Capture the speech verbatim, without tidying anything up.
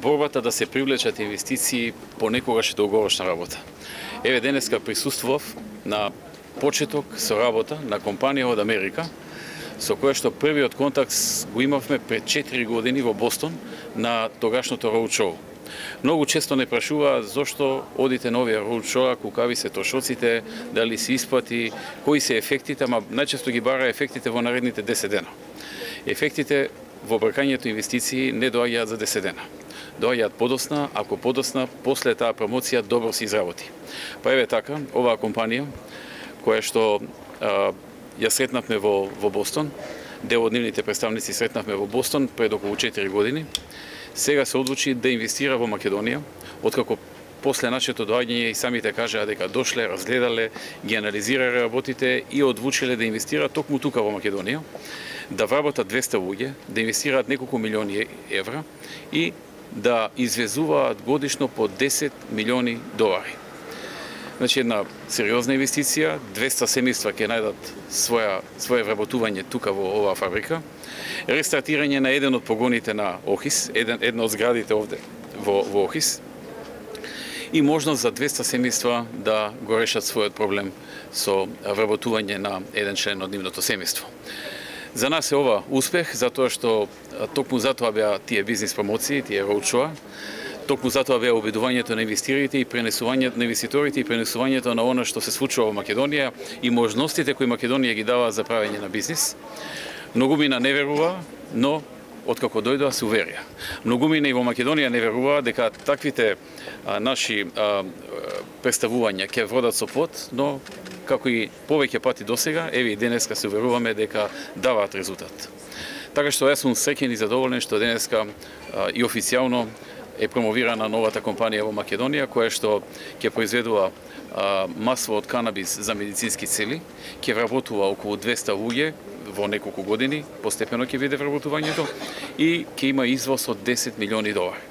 борбата да се привлечат инвестиции понекогаш е долгорочна работа. Еве денеска присуствував на почеток со работа на компанија од Америка, со која што првиот контакт го имавме пред четири години во Бостон на тогашното роудшоу. Многу често не прашува зошто одите на овие роудшоуа, кукави се трошоците, дали се исплати, кои се ефектите, ама најчесто ги бара ефектите во наредните десет дена. Ефектите во бркањето инвестиции не доаѓаат за десет дена. Доаѓаат подосна, ако подосна, после таа промоција добро се изработи. Па еве така, оваа компанија, која што а, ја сретнавме во, во Бостон, дел од нивните представници сретнавме во Бостон пред околу четири години, сега се одлучи да инвестира во Македонија, откако после нашето доаѓање и самите кажаа дека дошле, разгледале, ги анализирале работите и одлучиле да инвестираат токму тука во Македонија, да вработат двесте луѓе, да инвестираат неколку милиони евра и да извезуваат годишно по десет милиони долари. Значи една сериозна инвестиција, двесте семејства ќе најдат своја свое вработување тука во оваа фабрика. Рестартирање на еден од погоните на Охис, еден една од зградите овде во, во Охис. И можност за двесте семејства да го решат својот проблем со вработување на еден член од нивното семејство. За нас е ова успех, затоа што токму затоа беа тие бизнис промоции, тие роудшоуа, токму затоа беа обидувањето на инвеститорите и пренесувањето на инвеститорите и пренесувањето на она што се случува во Македонија и можностите кои Македонија ги дава за правење на бизнис. Многумина не верува, но откако дојдоа се уверија. Многумина и во Македонија не верува дека таквите а, наши а, представувања ќе водат со плод, но како и повеќе пати досега, еве и денеска се уверуваме дека даваат резултат. Така што јас сум среќен и задоволен што денеска а, и официјално е промовирана новата компанија во Македонија, која што ќе произведува а, масло од канабис за медицински цели, ќе вработува околу двесте луѓе во неколку години, постепено ќе биде вработувањето и ќе има извоз од десет милиони долари.